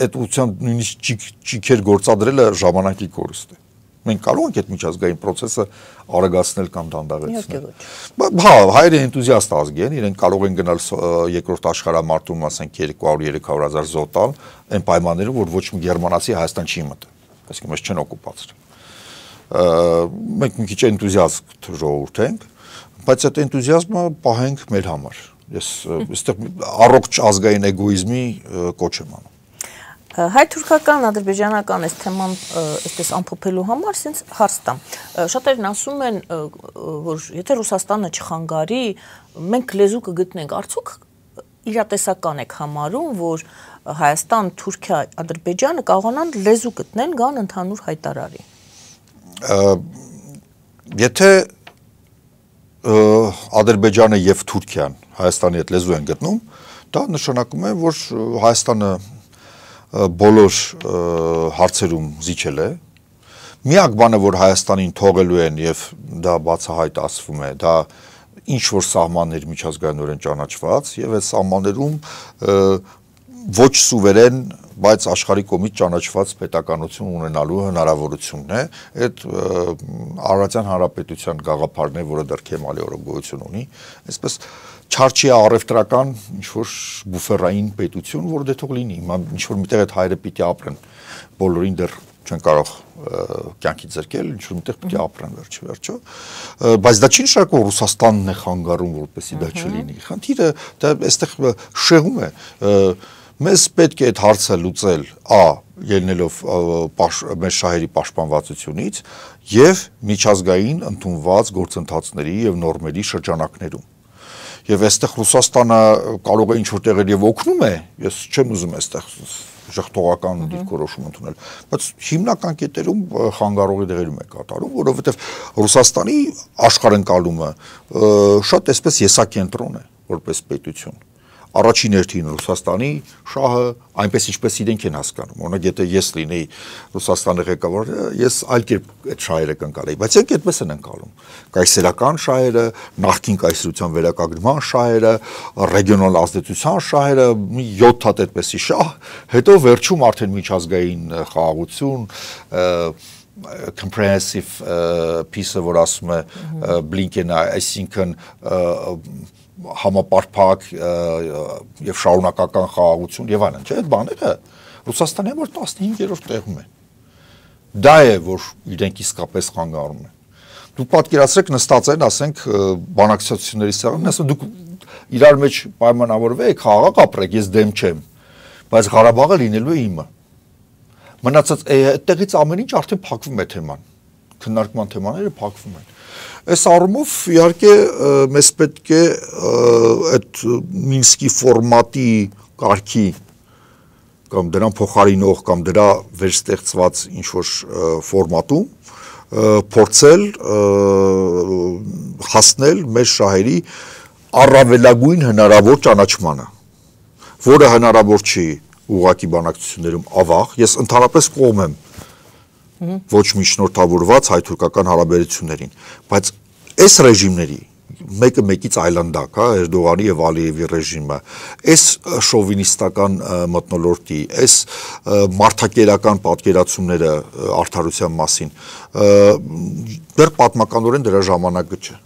Այդ ուղղությամբ նույնիսկ ճիքեր գործադրելը ժամանակի կորուստ է։ Մենք կարող ենք այդ միջազգային process-ը արագացնել կամ դանդաղեցնել։ Հա, հայերը էնտուզիաստ ազգ են, իրենք կարող են գնալ երկրորդ աշխարհամարտում, ասենք երկու հարյուր երեք հարյուր հազար զոհ տալ, այն պայմաններում, որ ոչ մի գերմանացի Հայաստան չի մտել, այսինքն մեզ չեն օկուպացրել։ Մենք մի քիչ էնտուզիաստ ժողովուրդ ենք, բայց այդ էնտուզիազմը պահենք մեր համար։ Ես այստեղ առողջ ազգային էգոիզմի կոչ եմ անում։ Հայ-թուրքական, ադրբեջանական այս թեման այսպես ամփոփելու համար sense հարց տամ։ Շատերն ասում են, որ եթե Ռուսաստանը չխանգարի, մենք լեզու կգտնենք։ Արդյոք իրատեսական եք համարում, որ Հայաստան, Թուրքիա, Ադրբեջանը կարողանան լեզու գտնել, գան ընդհանուր հայտարարի։ Եթե Ադրբեջանը եւ Թուրքիան Հայաստանի հետ լեզու են գտնում, դա նշանակում է, որ Հայաստանը բոլոր հարցերում զիջել է։ Միակ բանը, որ Հայաստանին թողելու են եւ դա բացահայտ ասվում է, դա ինչ որ սահմաններ միջազգայինորեն ճանաչված եւ այդ սահմաններում ոչ սուվերեն, բայց աշխարհի կողմից ճանաչված պետականություն ունենալու հնարավորությունն է։ Այդ Արարատյան հանրապետության գաղափարն է, որը դեռ Քեմալի օրոգոյություն ունի, այսպես չարչի առևտրական ինչ-որ բուֆերային պետություն, որը դե թող լինի, ինչ-որ միտեղ այդ հայերը պիտի ապրեն, բոլորին դեռ չեն կարող կյանքի ձեռքել, ինչ-որ միտեղ պիտի ապրեն վերջի վերջո, բայց դա չի նշանակում Ռուսաստանն է խանգարում, որպեսզի դա չլինի։ Խնդիրը դա այստեղ շեղում է, մեզ պետք է այդ հարցը լուծել ա ելնելով մեր շահերի պաշտպանվածությունից եւ միջազգային ընդունված գործընթացների եւ նորմերի շրջանակներում։ Եվ այստեղ Ռուսաստանը կարող է ինչ-որ տեղեր եւ օգնում է, ես չեմ ուզում այստեղ ժխտողական դիրքորոշում ընդունել, բայց հիմնական կետերում խանգարողի դերերում է կատարում, որովհետեւ Ռուսաստանի աշխարհընկալումը շատ այսպես եսակենտրոն է որպես պետություն։ Առաջին հերթին Ռուսաստանի շահը այնպես ինչպես իրենք են հասկանում։ Օրինակ եթե ես լինեի Ռուսաստանի ղեկավարը, ես այլ կերպ այդ շահերը կընկալեի, բայց եք այդպես են ընկալում։ Կայսերական շահերը, նախկին կայսրության վերականգնման շահերը, ռեգիոնալ ազդեցության շահերը, մի յոթ հատ այդպեսի շահ, հետո վերջում արդեն միջազգային խաղաղություն, comprehensive peace-ը, որ ասում է Բլինկենը, այսինքն համապարփակ եւ շարունակական խաղաղություն եւ այլն, չէ՞, այդ բաները Ռուսաստանի համար տասնհինգերորդ տեղում է։ Դա է, որ իրենք իսկապես խանգարում են։ Դուք պատկերացրեք նստած են, ասենք, բանակցությունների սեղանին, ասում դուք իրար մեջ պայմանավորվեք, խաղաղ ապրեք, ես դեմ չեմ, բայց Ղարաբաղը լինելու է իմը։ Մնացած այդտեղից ամեն ինչ արդեն փակվում է թեման, քննարկման թեմաները փակվում են։ Այս առումով իհարկե մեզ պետք է այդ Մինսկի ֆորմատի կարգի կամ դրան փոխարինող կամ դրա վերստեղծված ինչ-որ ֆորմատում փորձել հասնել մեր շահերի առավելագույն հնարավոր ճանաչմանը, որը հնարավոր չի ուղղակի բանակցություններում ավաղ, ես ընդհանրապես կողմ եմ ոչ միջնորդավորված հայ-թուրքական հարաբերություններին, բայց այս ռեժիմների մեկը մեկից այլանդակ, հա, Էրդողանի եւ Ալիևի ռեժիմը, այս շովինիստական մթնոլորտի, այս մարդակերական պատկերացումները արդարության մասին, դեռ պատմականորեն դրա ժամանակը չէ։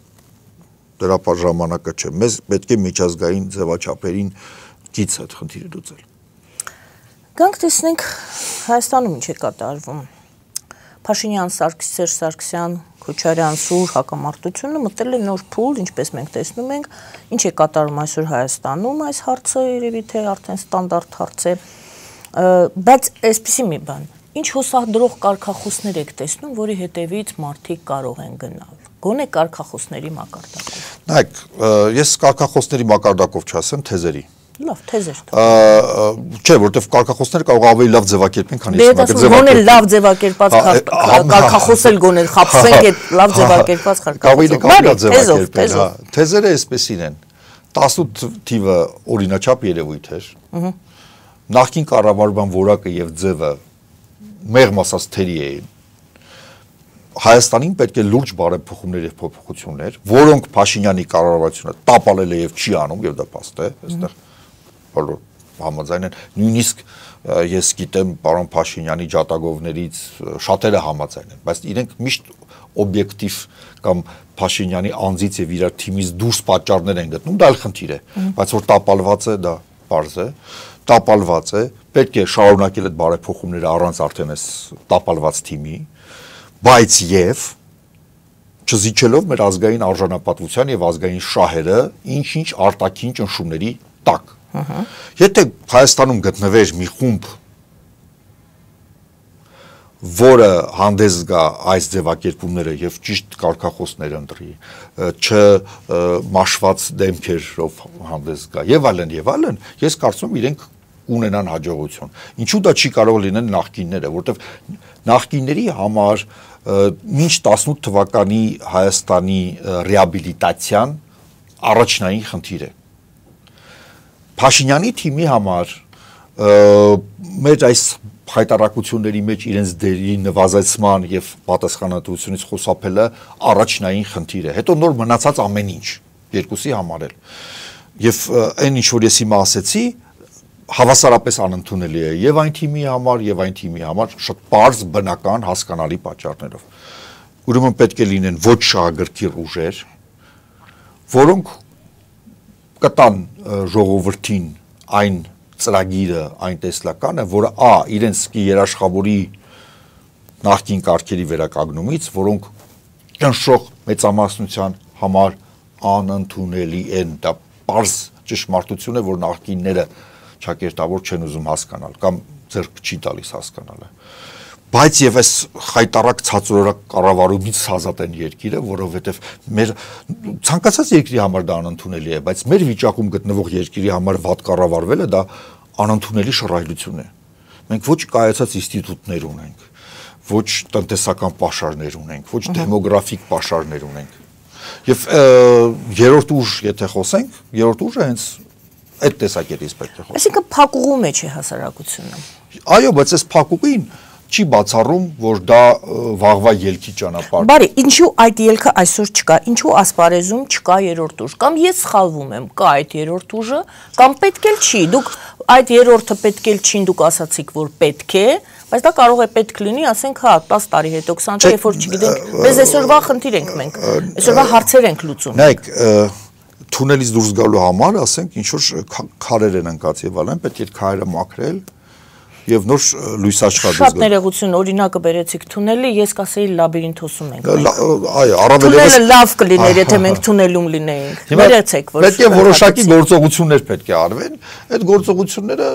Դրա ժամանակը չէ։ Մեզ պետք է միջազգային ձևաչափերին գից այդ խնդիրը լուծել։ Գանք տեսնենք Հայաստանում ինչ է կատարվում։ Փաշինյան, Սարգսյան, Սարգսյան, Քոչարյան, Սուր հակամարտությունը մտել է նոր փուլ, ինչպես մենք տեսնում ենք, ինչ է կատարում այսօր Հայաստանում այս հարցը, երևի թե արդեն ստանդարտ հարց է, բայց այսպեսի մի բան, ինչ հոսադրող կարգախոսներ եք տեսնում, որի հետևից մարդիկ կարող են գնալ։ Գոնե կարգախոսների մակարդակով։ Նայեք, ես կարգախոսների մակարդակով չասեմ, թեզերի։ Լավ, թեզեր։ Չէ, որովհետև կարգախոսները կարող ավելի լավ ձևակերպեն, քան ես մակերպել։ Գոնե լավ ձևակերպած կարգախոս էլ գոնե խաբսենք այդ լավ ձևակերպած կարգախոսով։ Կարող է ձևակերպել, հա։ Թեզերը այսպեսին են։ տասնութ թիվը օրինաչափ երևույթ էր։ Նախկին կառավարման որակը եւ ձևը մեղմ ասած թերի էին։ Հայաստանին պետք է լուրջ բարեփոխումներ եւ փոփոխություններ, որոնք Փաշինյանի կառավարությունը տապալել է եւ չի անում, եւ դա փաստ է, այստեղ բոլոր համաձայն են, նույնիսկ ես գիտեմ պարոն Փաշինյանի ջատագովներից շատերը համաձայն են, բայց իրենք միշտ օբյեկտիվ կամ Փաշինյանի անձից եւ իր թիմից դուրս պատճառներ են գտնում, դա այլ խնդիր է, բայց որ տապալված է, դա պարզ է, տապալված է, պետք է շարունակել այդ բարեփոխումները առանց արդեն այս տապալված թիմի, բայց եւ չզիջելով մեր ազգային արժանապատվության եւ ազգային շահերը ինչ-ինչ արտաքին ճնշումների տակ։ Եթե Հայաստանում գտնվեր մի խումբ, որը հանդես գա այս ձևակերպումները եւ ճիշտ կարգախոսներ ընտրի, չմաշված դեմքերով հանդես գա եւ այլն եւ այլն, ես կարծում եմ իրենք ունենան հաջողություն։ Ինչու դա չի կարող լինել նախկինները, որտեվ նախկինների համար մինչ տասնութ թվականի Հայաստանի ռեաբիլիտացիան առաջնային խնդիր է։ Փաշինյանի թիմի համար մեր այս հայտարարությունների մեջ իրենց դերի նվազեցման եւ պատասխանատվությունից խուսափելը առաջնային խնդիր է։ Հետո նոր մնացած ամեն ինչ երկուսի համար էլ։ Եվ այն ինչ որ ես հիմա ասեցի, հավասարապես անընդունելի է եւ այն թիմի համար եւ այն թիմի համար շատ པարզ բնական հասկանալի պատճառներով։ Ուրեմն պետք է լինեն ոչ շահագրգիռ ուժեր, որոնք կտան ժողովրդին այն ծրագիրը, այն տեսլականը, որը ա իրենց երաշխավորի նախկին կարգերի վերականգնումից, որոնք ճնշող մեծամասնության համար անընդունելի են, դա པարզ ճշմարտություն է, որ նախկինները չակերտավոր չեն ուզում հասկանալ կամ ձեռք չի տալիս հասկանալը։ Բայց եւ այս խայտարակ ցածրորակ կառավարումից ազատ են երկիրը, որովհետեւ մեր ցանկացած երկրի համար դա անընդունելի է, բայց մեր վիճակում գտնվող երկրի համար վատ կառավարվելը դա անընդունելի շռայլություն է։ Մենք ոչ կայացած ինստիտուտներ ունենք, ոչ տնտեսական պաշարներ ունենք, ոչ դեմոգրաֆիկ պաշարներ ունենք։ Եվ երրորդ ուժ, եթե խոսենք, երրորդ ուժը հենց այդ տեսակետից պետք է խոսենք։ Այսինքն փակուղու մեջ է հասարակությունը։ Այո, բայց այս փակուղին չի բացառում, որ դա վաղվա ելքի ճանապարհ։ Բարի, ինչու այդ ելքը այսօր չկա, ինչու ասպարեզում չկա երրորդ ուժ, կամ ես սխալվում եմ, կա այդ երրորդ ուժը, կամ պետք էլ չի, դուք այդ երրորդը պետք էլ չի, դուք ասացիք, որ պետք է, բայց դա կարող է պետք լինի, ասենք, հա, տասը տարի հետո, քսան տարի, երբ որ չգիտենք, մեզ այսօրվա խնդիր ենք մենք, այսօրվա հարցեր ենք լուծում։ Նայեք, թունելից դուրս գալու համար, ասենք, ինչ որ քարեր են ընկած եւ այլն, պետք է քարերը մաքրել եւ նոր լույս աշխատել։ Շատ ներողություն, օրինակը բերեցիք թունելի, ես կասեի լաբիրինթոսում ենք։ Այո, առավել թունելը լավ կլիներ, եթե մենք թունելում լինեինք։ Բերեցեք, որ պետք է որոշակի գործողություններ պետք է արվեն, այդ գործողությունները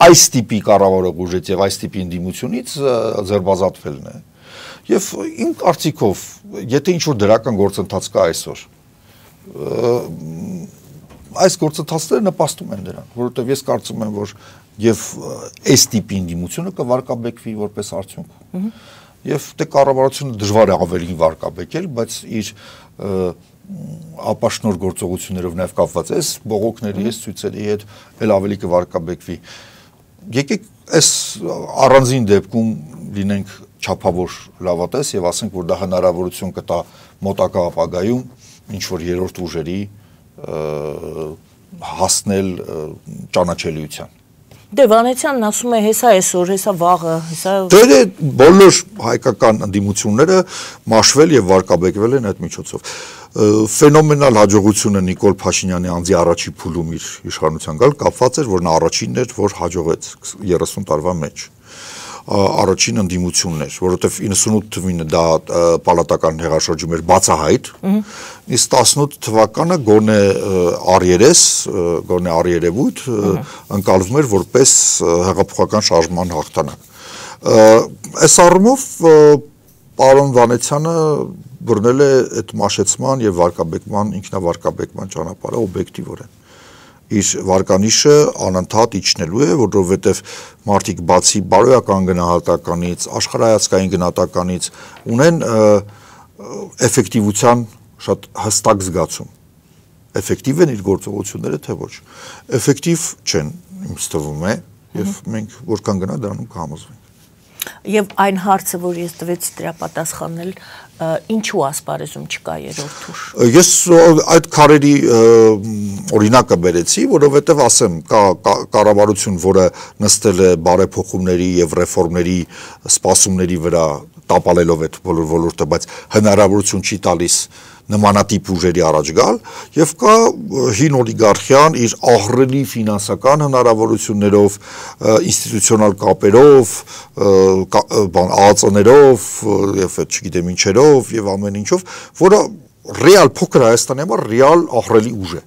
այս տիպի կառավարող ուժից եւ այս տիպի ընդդիմությունից ձերբազատվելն է։ Եվ իմ կարծիքով, եթե ինչ որ դրական գործընթաց կա այսօր, այս գործընթացները նպաստում են դրան, որովհետեւ ես կարծում եմ, որ եւ այս տիպի ընդդիմությունը կվարկաբեկվի որպես արդյունք։ Եվ դե կառավարությունը դժվար է ավելին վարկաբեկել, բայց իր ապաշնոր գործողություններով նաեւ կապված է, բողոքների, այս ցույցերի հետ էլ ավելի կվարկաբեկվի։ Եկեք այս առանձին դեպքում լինենք չափավոր լավատես եւ ասենք, որ դա հնարավորություն կտա մոտակա ապագայում ինչ որ երրորդ ուժերի հասնել ճանաչելիության։ Դե Վանեցյանն ասում է հեսա այսօր, հեսա վաղը, հեսա Դե բոլոր հայկական ընդդիմությունները մաշվել եւ վարկաբեկվել են այդ միջոցով։ Ֆենոմենալ հաջողությունը Նիկոլ Փաշինյանի անձի առաջի փուլում իր իշխանության գալ կապված էր, որ նա առաջինն էր, որ հաջողեց երեսուն տարվա մեջ։ Առաջին ընդդիմությունն էր, որովհետև իննսունութ թվին դա պալատական հեղաշրջում էր բացահայտ, իսկ տասնութ թվականը գոնե առերես, գոնե առերևույթ ընկալվում էր որպես հեղափոխական շարժման հաղթանակ։ Այս առումով պարոն Վանեցյանը բռնել է այդ մաշեցման եւ վարկաբեկման, ինքնավարկաբեկման ճանապարհը օբյեկտիվորեն։ Իր վարկանիշը անընդհատ իջնելու է, որովհետև մարդիկ բացի բարոյական գնահատականից, աշխարհայացքային գնահատականից ունեն էֆեկտիվության շատ հստակ զգացում։ Էֆեկտիվ են իր գործողությունները, թե ոչ։ Էֆեկտիվ չեն, ինձ թվում է, եւ մենք որքան գնա դրանում կհամոզվենք։ Եվ այն հարցը, որ ես տվեցի դրա պատասխանել, ինչու ասպարեզում չկա երրորդ ուժ։ Ես այդ քարերի օրինակը բերեցի, որովհետև ասեմ, կա կառավարություն, որը նստել է բարեփոխումների եւ ռեֆորմների սպասումների վրա, տապալելով այդ բոլոր ոլորտը, բայց հնարավորություն չի տալիս նմանատիպ ուժերի առաջ գալ, եւ կա հին օլիգարխիան իր ահռելի ֆինանսական հնարավորություններով, ինստիտուցիոնալ կապերով, ԱԱԾ-ներով եւ այդ չգիտեմ ինչերով եւ ամեն ինչով, որը ռեալ փոքր Հայաստանի համար ռեալ ահռելի ուժ է։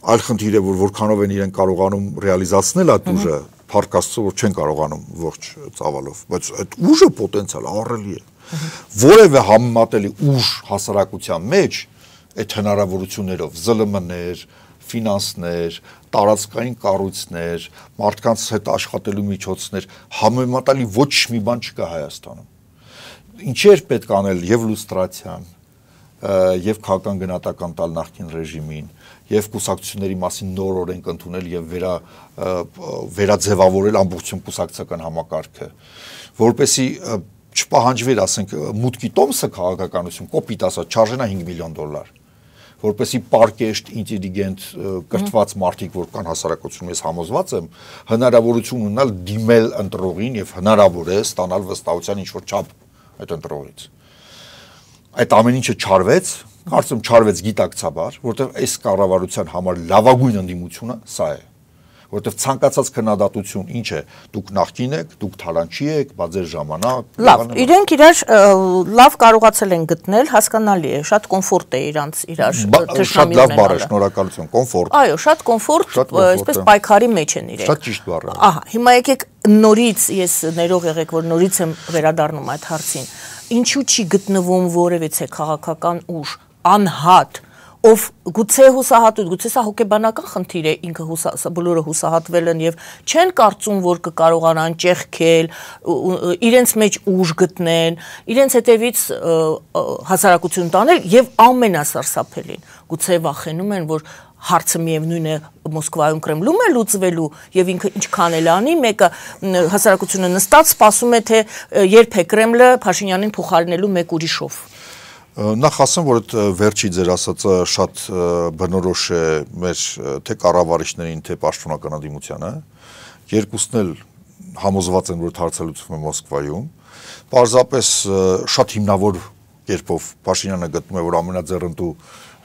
Այլ խնդիր է, որ որքանով են իրեն կարողանում ռեալիզացնել այդ ուժը, փառք Աստծո, որ չեն կարողանում ողջ ծավալով, բայց այդ ուժը պոտենցիալ ահռելի է։ Որևէ համեմատելի ուժ հասարակության մեջ այդ հնարավորություններով զլ մ ներ, ֆինանսներ, տարածքային կառույցներ, մարդկանց հետ աշխատելու միջոցներ, համեմատելի ոչ մի բան չկա Հայաստանում։ Ինչեր պետք անել եւ լուստրացիան, եւ քաղաքական գնահատական տալ նախկին ռեժիմին, եւ կուսակցությունների մասին նոր օրենք ընդունել եւ վերա վերաձևավորել ամբողջություն կուսակցական համակարգը, որպեսզի չպահանջվեր, ասենք, մուտքի տոմսը քաղաքականություն, կոպիտ ասած, չարժենա հինգ միլիոն դոլար, որպեսզի պարկեշտ, ինտելիգենտ, կրթված մարդիկ, որ կան հասարակությունում, ես համոզված եմ, հնարավորություն ունենալ դիմել ընտրողին եւ հնարավոր է ստանալ վստահության ինչ-որ չափ այդ ընտրողից։ Այդ ամեն ինչը չարվեց, կարծում չարվեց գիտակցաբար, որտեղ այս կառավարության համար լավագույն ընդդիմությունը սա է։ Որտեղ ցանկացած քննադատություն ինչ է, դուք նախկին եք, դուք թալանչի եք, բա ձեր ժամանակ։ Լավ, իրենք իրար լավ կարողացել են գտնել, հասկանալի է, շատ կոմֆորտ է իրանց իրար շատ լավ բառ է, շնորհակալություն, կոմֆորտ։ Այո, շատ կոմֆորտ, այսպես պայքարի մեջ են իրենք։ Շատ ճիշտ բառ է։ Ահա, հիմա եկեք նորից, ես ներող եղեք, որ նորից եմ վերադառնում այդ հարցին։ Ինչու չի գտնվում որևիցե քաղաքական ուժ, անհատ, ով գուցե հուսահատույց, գուցե սա հոգեբանական խնդիր է, ինքը բոլորը հուսահատվել են եւ չեն կարծում, որ կկարողանան ճեղքել, իրենց մեջ ուժ գտնեն, իրենց հետևից հասարակություն տանել եւ ամենասարսափելին, գուցե վախենում են, որ հարցը միևնույն է Մոսկվայում Կրեմլում է լուծվելու եւ ինքը ինչքան էլ անի, մեկը հասարակությունը նստած սպասում է, թե երբ է Կրեմլը Փաշինյանին փոխարինելու մեկ ուրիշով։ Նախ ասեմ, որ այդ վերջի ձեր ասածը շատ բնորոշ է մեր թե կառավարիչներին, թե պաշտոնական ընդդիմությանը, երկուսն էլ համոզված են, որ հարցը լուծվում է Մոսկվայում, պարզապես շատ հիմնավոր կերպով Փաշինյանը գտնում է, որ ամենաձեռնտու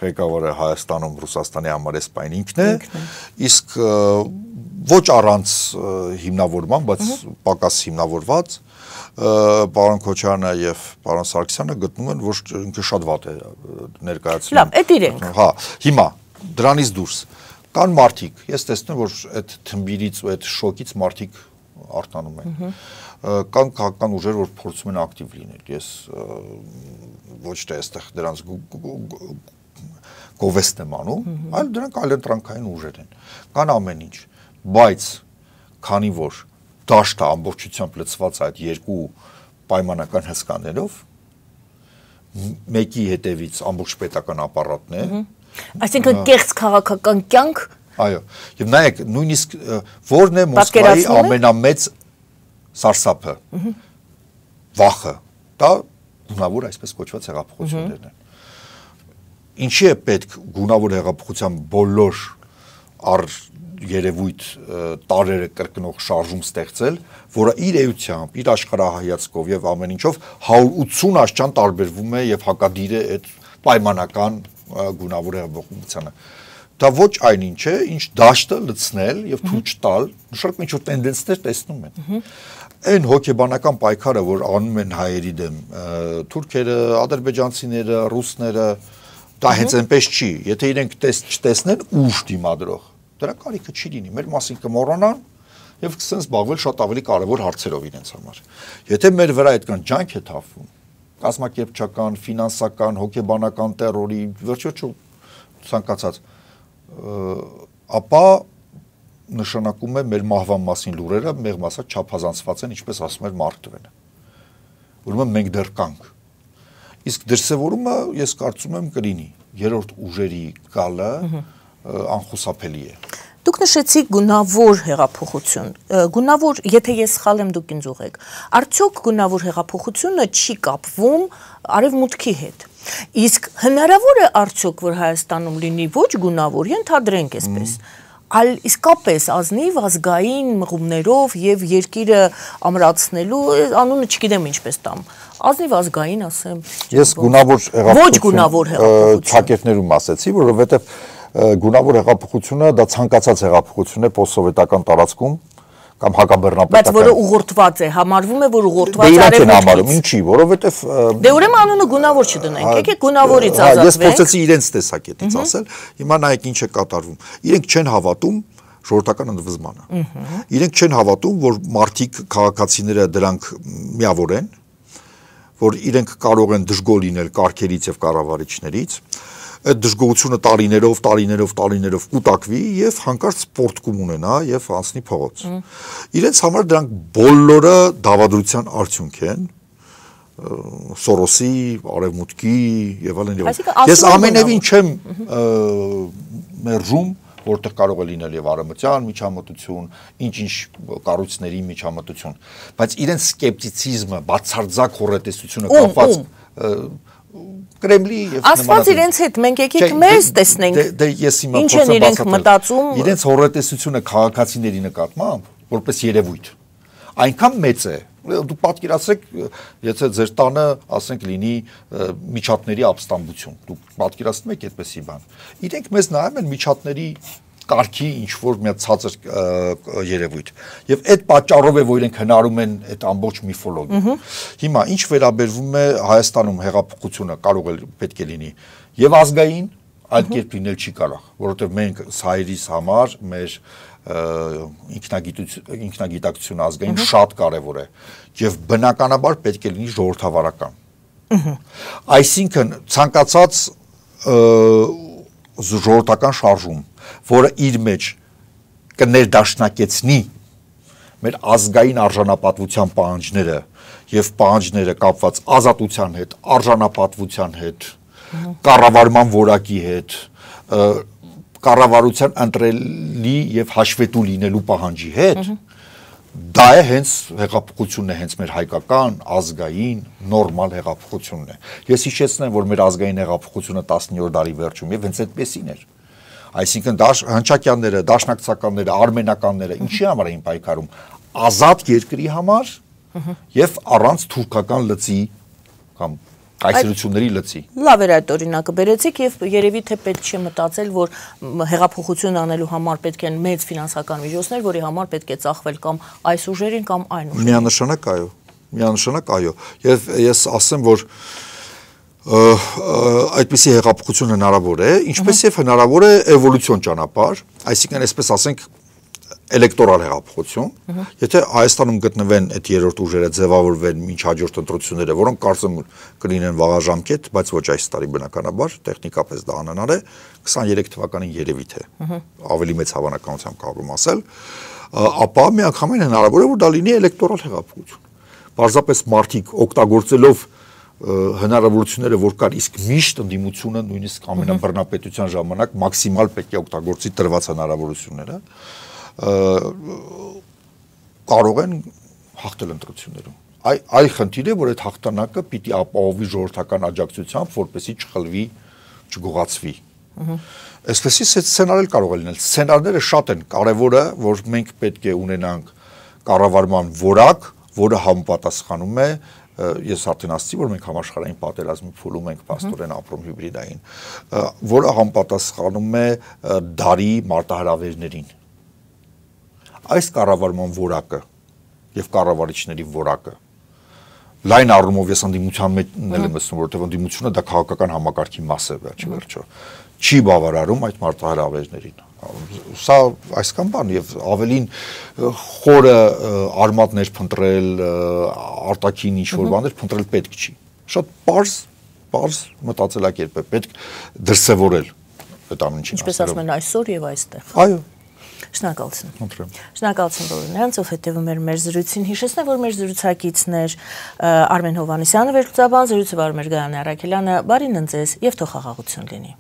ղեկավարը Հայաստանում, Ռուսաստանի համար էս պայն ինքն է, իսկ ոչ առանց հիմնավորման, բայց պակաս հիմնավորված պարոն Քոչարյանը եւ պարոն Սարգսյանը գտնում են, որ ինքը շատ վատ է ներկայացնում։ Լավ, այդ իրենք։ Հա, հիմա դրանից դուրս կան մարդիկ, ես տեսնում եմ, որ այդ թմբիրից ու այդ շոկից մարդիկ արտանում են։ Կան քաղաքական ուժեր, որ փորձում են ակտիվ լինել։ Ես ոչ թե այստեղ դրանց գովեստ եմ անում, այլ դրանք այլընտրանքային ուժեր են։ Կան ամեն ինչ, բայց քանի որ դաշտը ամբողջությամբ լցված այդ երկու պայմանական հսկաներով, մեկի հետևից ամբողջ պետական ապարատն է, այսինքն կեղծ քաղաքական կյանք, այո, եւ նայեք, նույնիսկ որն է Մոսկվայի ամենամեծ սարսափը, վախը, դա գունավոր այսպես կոչված հեղափոխություններն են։ ինչի է պետք գունավոր հեղափոխության բոլոր առ երևույթ տարերը կրկնող շարժում ստեղծել, որը իր էությամբ, իր աշխարհահայացքով եւ ամեն ինչով հարյուր ութսուն աշճան տարբերվում է եւ հակադիր է այդ պայմանական գունավոր հեղափոխությանը։ Դա ոչ այնինչ է, ինչ դաշտը լցնել եւ թույլ չտալ, նշանակում ինչ-որ տենդենսներ տեսնում են։ Այն հոգեբանական պայքարը, որ անում են հայերի դեմ, թուրքերը, ադրբեջանցիները, ռուսները, դա հենց այնպես չի։ Եթե իրենք չտեսնեն ուժ դիմադրող, դրա կարիքը չի լինի, մեր մասին կմոռանան եւ կսեն զբաղվել շատ ավելի կարեւոր հարցերով իրենց համար։ Եթե մեր վրա այդքան ջանք է թափվում, կազմակերպչական, ֆինանսական, հոգեբանական տերորի, վերջո ցանկացած, ապա նշանակում է մեր մահվան մասին լուրերը մեղմ ասած չափազանցված են, ինչպես ասում էր Մարկ Տվենը։ Ուրեմն մենք դեռ կանք։ Իսկ դրսևորումը ես կարծում եմ կլինի երրորդ ուժերի գալը անխուսափելի է։ Դուք նշեցիք գունավոր հեղափոխություն։ Գունավոր, եթե ես սխալ եմ, դուք ինձ ուղղեք։ Արդյոք գունավոր հեղափոխությունը չի կապվում արևմուտքի հետ։ Իսկ հնարավոր է արդյոք, որ Հայաստանում լինի ոչ գունավոր, ենթադրենք այսպես, այլ իսկապես ազնիվ ազգային մղումներով եւ երկիրը ամրացնելու, անունը չգիտեմ ինչպես տամ, ազնիվ ազգային ասեմ։ Ես գունավոր հեղափոխություն, ոչ գունավոր հեղափոխություն ճակերտներում ասեցի, որովհետեւ գունավոր հեղափոխությունը դա ցանկացած հեղափոխություն է պոստսովետական տարածքում կամ հակաբեռնապետական։ Բայց որը ուղղորդված է, համարվում է, որ ուղղորդված է արևմուտքից։ Ինչի, որովհետև դե ուրեմն անունը գունավոր չդնենք, եկեք գունավորից ազատվենք։ Ես փորձեցի իրենց տեսակետից ասել, հիմա նայեք ինչ է կատարվում։ Իրենք չեն հավատում ժողովրդական ընդվզմանը։ Իրենք չեն հավատում, որ մարդիկ, քաղաքացիները դրանք միավոր են, որ իրենք կարող են դժգոհ լինել կարգերից եւ կառավարիչներից։ Այդ դժգոհությունը տարիներով, տարիներով, տարիներով կուտակվի եւ հանկարծ սպորտկում ունենա եւ անցնի փողոց։ Իրենց համար դրանք բոլորը դավադրության արդյունք են, Սորոսի, արևմուտքի եւ այլն եւ այլն։ Ես ամենևին չեմ մերժում, որտեղ կարող է լինել եւ արևմտյան միջամտություն, ինչ-ինչ կառույցների միջամտություն, բայց իրենց սկեպտիցիզմը, բացարձակ հոռետեսությունը կապված Կրեմլի եւ Աստված իրենց հետ մենք եկեք մեզ տեսնենք։ Դե ես հիմա ինչ են իրենք մտածում։ Իրենց հոռետեսությունը քաղաքացիների նկատմամբ որպես երևույթ այնքան մեծ է, դու պատկերացրեք, եթե ձեր տանը, ասենք, լինի միջատների ապստամբություն, դու պատկերացնում եք այդպեսի բան։ Իրենք մեզ նայում են միջատների կարգի ինչ-որ մի ցածր երևույթ։ Եվ այդ պատճառով է, որ իրենք հնարում են այդ ամբողջ միֆոլոգիան։ Հիմա ինչ վերաբերվում է Հայաստանում հեղափոխությունը կարող է պետք է լինի եւ ազգային, այլ կերպ լինել չի կարող, որովհետեւ մենք հայերիս համար մեր ինքնագիտակցությունը ազգային շատ կարեւոր է եւ բնականաբար պետք է լինի ժողովրդավարական։ Այսինքն ցանկացած ժողովրդական շարժում, որը իր մեջ կներդաշնակեցնի մեր ազգային արժանապատվության պահանջները եւ պահանջները կապված ազատության հետ, արժանապատվության հետ, կառավարման որակի հետ, կառավարության ընտրելի եւ հաշվետու լինելու պահանջի հետ, դա է հենց հեղափոխությունն է, հենց մեր հայկական ազգային նորմալ հեղափոխությունն է։ Ես հիշեցնեմ, որ մեր ազգային հեղափոխությունը տասնյորդ դարի վերջում եւ հենց այդպեսին էր։ Այսինքն հնչակյանները, դաշնակցականները, արմենականները ինչի համար էին պայքարում, ազատ երկրի համար եւ առանց թուրքական լծի կամ կայսրությունների լծի։ Լավ էր այդ օրինակը բերեցիք եւ երևի թե պետք չէ մտածել, որ հեղափոխություն անելու համար պետք են մեծ ֆինանսական միջոցներ, որի համար պետք է ծախվել կամ այս ուժերին կամ այն ուժերին։ Միանշանակ այո, միանշանակ այո։ Եվ ես ասեմ, որ այդպիսի հեղափոխություն հնարավոր է, ինչպես եւ հնարավոր է էվոլյուցիոն ճանապարհ, այսինքն այսպես ասենք էլեկտորալ հեղափոխություն, եթե Հայաստանում գտնվեն այդ երրորդ ուժերը ձևավորվեն մինչ հաջորդ ընտրությունները, որոնք կարծում կլինեն վաղաժամկետ, բայց ոչ այս տարի բնականաբար, տեխնիկապես դա անհնար է, քսաներեք թվականին երևի թե ավելի մեծ հավանականությամբ կարող եմ ասել, ապա միանգամայն հնարավոր է, որ դա լինի էլեկտորալ հեղափոխություն։ Պարզապես մարդիկ օգտագործելով հնարավորությունները, որ կար, իսկ միշտ ընդդիմությունը նույնիսկ ամենաբռնապետության ժամանակ մաքսիմալ պետք է օգտագործի տրված հնարավորությունները, կարող են հաղթել ընտրություններում։ Այ խնդիր է, որ այդ հաղթանակը պիտի ապահովի ժողովրդական աջակցությամբ, որպեսզի չխլվի, չգողացվի։ Այսպեսի սցենարել կարող է լինել։ Սցենարները շատ են, կարևորը, որ մենք պետք է ունենանք կառավարման որակ, որը համապատասխանում է, ես արդեն ասացի, որ մենք համաշխարհային պատերազմի փուլում ենք փաստորեն ապրում հիբրիդային, որը համապատասխանում է դարի մարտահրավերներին։ Այս կառավարման որակը եւ կառավարիչների որակը լայն առումով ես ընդդիմության մեջ նել եմ ասում, որովհետեւ ընդդիմությունը դա քաղաքական համակարգի մաս է վերջ վերջո, չի բավարարում այդ մարտահրավերներին։ Սա այսքան բան եւ ավելին խորը արմատներ փնտրել, արտաքին ինչ-որ բաներ փնտրել պետք չի։ Շատ པարզ, པարզ մտածելակերպ է պետք դրսևորել այդ ամեն ինչը։ Ինչպես ասում են այսօր եւ այստեղ։ Այո։ Շնորհակալություն։ Խնդրեմ։ Շնորհակալություն բոլորին, ով հետևում էր մեր զրույցին։ Հիշեցնեմ, որ մեր զրուցակիցն էր Արմեն Հովհաննիսյանը, վերլուծաբան, զրույցը վարում էր Գայանե Առաքելյանը։ Բարին ընձեզ եւ թող խաղաղություն լինի։